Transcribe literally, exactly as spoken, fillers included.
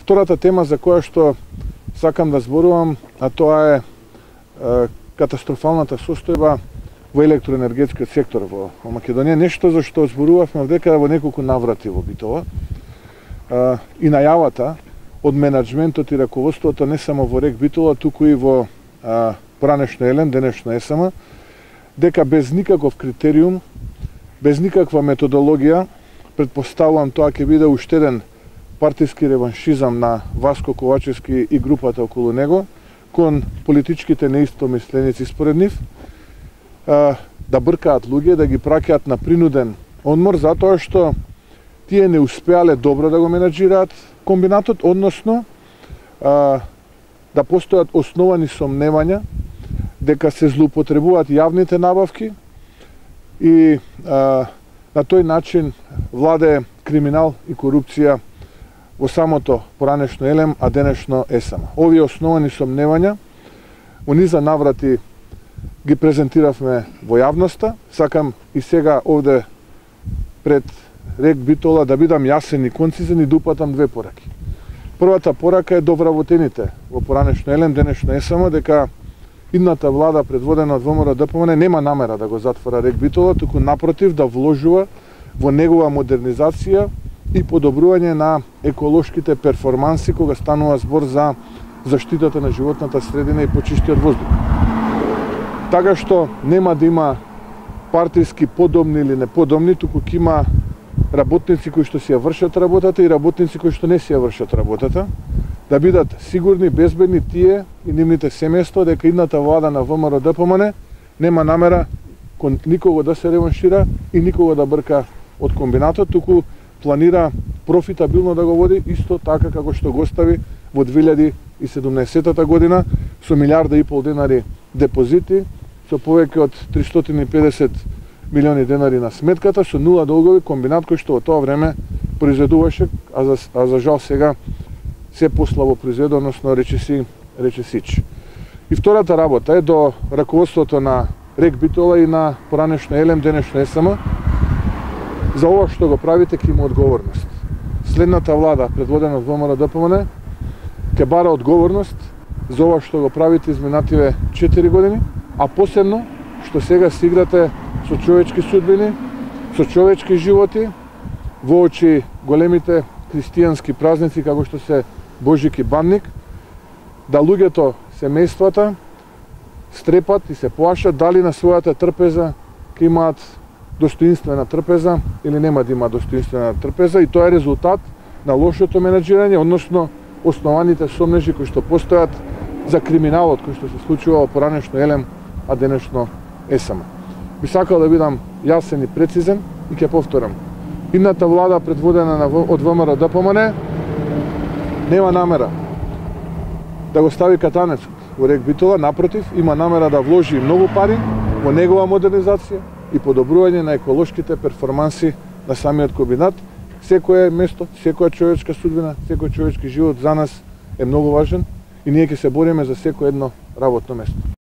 Втората тема за која што сакам да зборувам, а тоа е, е катастрофалната состојба во електроенергетскиот сектор во, во Македонија. Нешто за што зборувавме дека во неколку наврати во Битола. Е, и најавата од менаџментот и раководството не само во РЕК Битола, туку и во е, поранешно Елем, денешно ЕСМ, дека без никаков критериум, без никаква методологија, предпоставувам тоа ќе биде уште еден партиски реваншизам на Васко Ковачевски и групата околу него, кон политичките неистомисленици според нив, да бркаат луѓе, да ги праќаат на принуден одмор, затоа што тие не успеале добро да го менаџираат комбинатот, односно да постојат основани сомневања дека се злоупотребуваат јавните набавки и на тој начин владее криминал и корупција во самото поранешно Елем, а денешно ЕСМ. Овие основани сомневања во низа наврати ги презентиравме во јавноста. Сакам и сега овде пред РЕК Битола да бидам јасен и концизен и да упатам две пораки. Првата порака е до вработените во поранешно Елем, денешно ЕСМ, дека идната влада предводена од ВМРО-ДПМН нема намера да го затвора РЕК Битола, туку напротив да вложува во негова модернизација и подобрување на еколошките перформанси кога станува збор за заштитата на животната средина и почистиот воздух. Така што нема да има партиски подобни или неподобни, туку ќе има работници кои што си ја вршат работата и работници кои што не си ја вршат работата, да бидат сигурни, безбедни тие и нивните семејства дека идната влада на ВМРО-ДПМН нема намера кон никого да се реваншира и никого да брка од комбинатот, туку планира профитабилно да го води, исто така како што го остави во две илјади и седумнаесетта година со милијарда и пол денари депозити, со повеќе од тристотини и педесет милиони денари на сметката, со нула долгови, комбинат кој што во тоа време произведуваше, а за, а за жал сега се послабо произведува, односно рече си, рече сич. И втората работа е до раководството на РЕК Битола и на поранешно Елем, денешно ЕСМ, за ова што го правите ќе има одговорност. Следната влада, предводена од ВМРО-ДПМН, ќе бара одговорност за ова што го правите изминативе четири години, а посебно што сега се играте со човечки судбини, со човечки животи, во очи големите христијански празници како што се Божик и Банник, да луѓето, семејствата, стрепат и се плашат дали на својата трпеза ќе имаат достоинствена трпеза или нема да има достоинствена трпеза, и тоа е резултат на лошото менаџирање, односно основаните сомнежи кои што постојат за криминалот кој што се случува во поранешно Елем, а денешно ЕСМ. Би сакал да бидам јасен и прецизен и ќе повторам. Идната влада предводена од ВМРО-ДПМН нема намера да го стави катанецот во РЕК Битола, напротив, има намера да вложи многу пари во негова модернизација и подобрување на еколошките перформанси на самиот комбинат. Секое место, секоја човечка судбина, секој човечки живот за нас е многу важен и ние ќе се бориме за секој едно работно место.